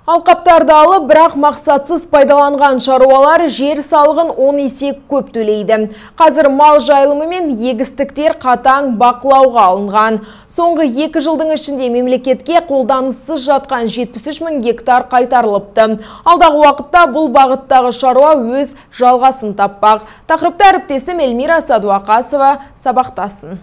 Алқаптарды алып, бірақ мақсатсыз пайдаланған шаруалар жер салығын 10 есе көп төлейді. Қазір мал жайылымы мен егістіктер қатаң бақылауға алынған. Соңғы 2 жылдың ішінде мемлекетке қолданыссыз жатқан 73 мың гектар қайтарылыпты. Алдағы уақытта бұл бағыттағы шаруа өз жалғасын таппақ. Тақырыпты әріптесім Эльмира Садуақасова сабақтасын.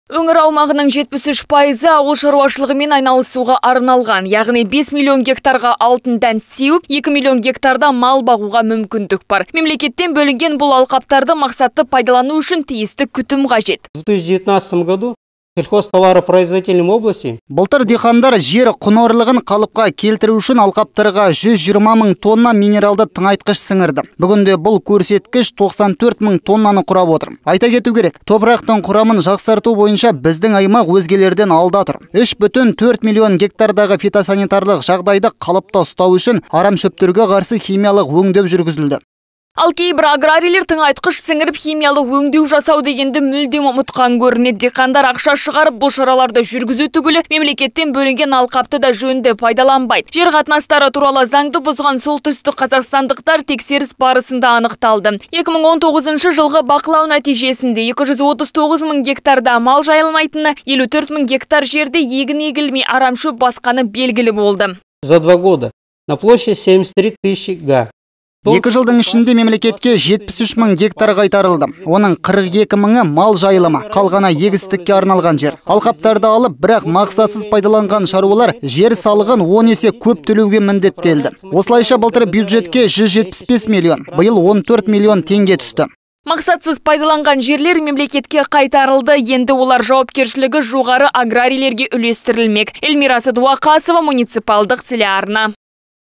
Өңір аумағының 73% ауыл шаруашылығымен айналысуға арналған, яғни 5 миллион гектарға алтын дән сеуіп, 2 миллион гектарда мал бағуға мүмкіндік бар. Мемлекеттен бөлінген бұл алқаптарды мақсатты пайдалану үшін тиісті күтім қажет. В 2019 году сельхозтоваропроизводительной области былтыр диқандар жер құнарлығын қалыпқа келтіру үшін алқаптарға 120 мың тонна минералды тыңайтқыш сіңірді. Бүгінде бұл көрсеткіш 94 мың тоннаны құрап отыр. Айта кету керек, топырақтың құрамын жақсарту бойынша біздің аймақ өзгелерден алда тұр. 3,4 миллион гектардағы фитосанитарлық жағдайды қалыпта ұстау үшін арам шөптерге қарсы химиялық өңдеу жүргізілді. Ал кейбір аграрийлер тыңайтқыш сіңіріп химиялық өңдеу жасау дегенді мүлдем ұмытқан көрінеді. Диқандар ақша шығарып бұл шараларды жүргізу түгілі мемлекеттен бөлінген алқапты да жөнді пайдаланбайды. Жер қатынастары туралы заңды бұзған солтүстік қазақстандықтар тексеріс барысында анықталды. 2019 жылғы бақылау нәтижесінде 239 мың гектарда мал жайылмайтыны, 54 мың гектар жерде егін егілмей арамшөп басқаны белгілі болды. За 2 года на площади 73 тысячи га. 2 жылдың ішінде мемлекетке 73 мың гектар қайтарылды. Оның 42 мыңы мал жайылымы, қалғаны егістікке арналған жер. Алқаптарды алып, бірақ мақсатсыз пайдаланған шаруалар жер салығын 10 есе көп төлеуге міндеттелді. Осылайша былтыр бюджетке 175 миллион, биыл 14 миллион теңге түсті. Мақсатсыз пайдаланған жерлер мемлекетке қайтарылды, енді олар жауапкершілігі жоғары аграрийлерге үлестірілмек. Эльмира Садуақасова, муниципалдық телеарна.